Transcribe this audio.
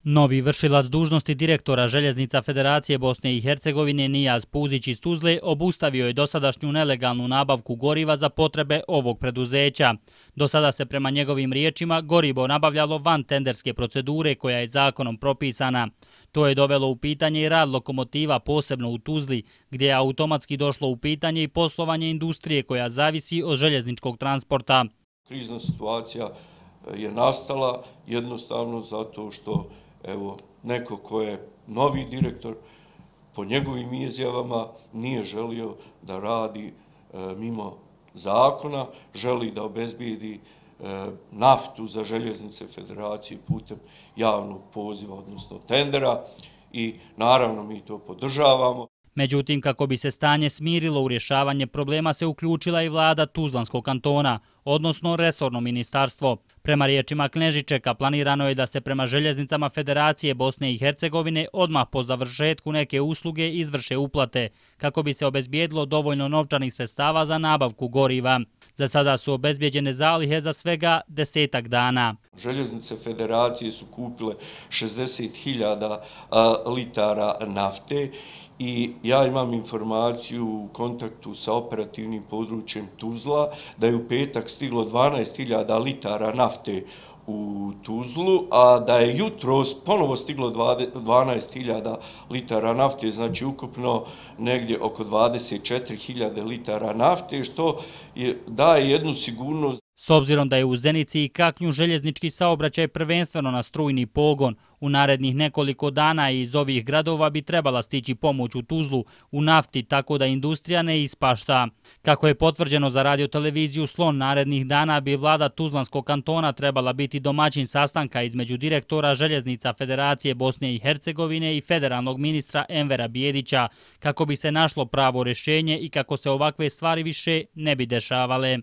Novi vršilac dužnosti direktora Željeznica Federacije Bosne i Hercegovine Nijaz Puzić iz Tuzle obustavio je dosadašnju nelegalnu nabavku goriva za potrebe ovog preduzeća. Do sada se prema njegovim riječima gorivo nabavljalo van tenderske procedure koja je zakonom propisana. To je dovelo u pitanje i rad lokomotiva, posebno u Tuzli, gdje je automatski došlo u pitanje i poslovanje industrije koja zavisi od željezničkog transporta. Krizna situacija je nastala jednostavno zato što neko ko je novi direktor, po njegovim izjavama nije želio da radi mimo zakona, želi da obezbijedi naftu za Željeznice Federacije putem javnog poziva, odnosno tendera, i naravno mi to podržavamo. Međutim, kako bi se stanje smirilo, u rješavanje problema se uključila i vlada Tuzlanskog kantona, odnosno resorno ministarstvo. Prema riječima Knežičeka, planirano je da se prema Željeznicama Federacije Bosne i Hercegovine odmah po završetku neke usluge izvrše uplate, kako bi se obezbijedilo dovoljno novčanih sredstava za nabavku goriva. Za sada su obezbijeđene zalihe za svega 10 dana. Željeznice Federacije su kupile 60.000 litara nafte i ja imam informaciju u kontaktu sa operativnim područjem Tuzla da je u petak stiglo 12.000 litara nafte u Tuzlu, a da je jutros ponovo stiglo 12.000 litara nafte, znači ukupno negdje oko 24.000 litara nafte, što daje jednu sigurnost. S obzirom da je u Zenici i Kaknju željeznički saobraćaj prvenstveno na strujni pogon, u narednih nekoliko dana iz ovih gradova bi trebala stići pomoć u Tuzlu u nafti, tako da industrija ne ispašta. Kako je potvrđeno za radioteleviziju Slon, narednih dana bi vlada Tuzlanskog kantona trebala biti domaćin sastanka između direktora Željeznica Federacije Bosne i Hercegovine i federalnog ministra Envera Bijedića, kako bi se našlo pravo rješenje i kako se ovakve stvari više ne bi dešavale.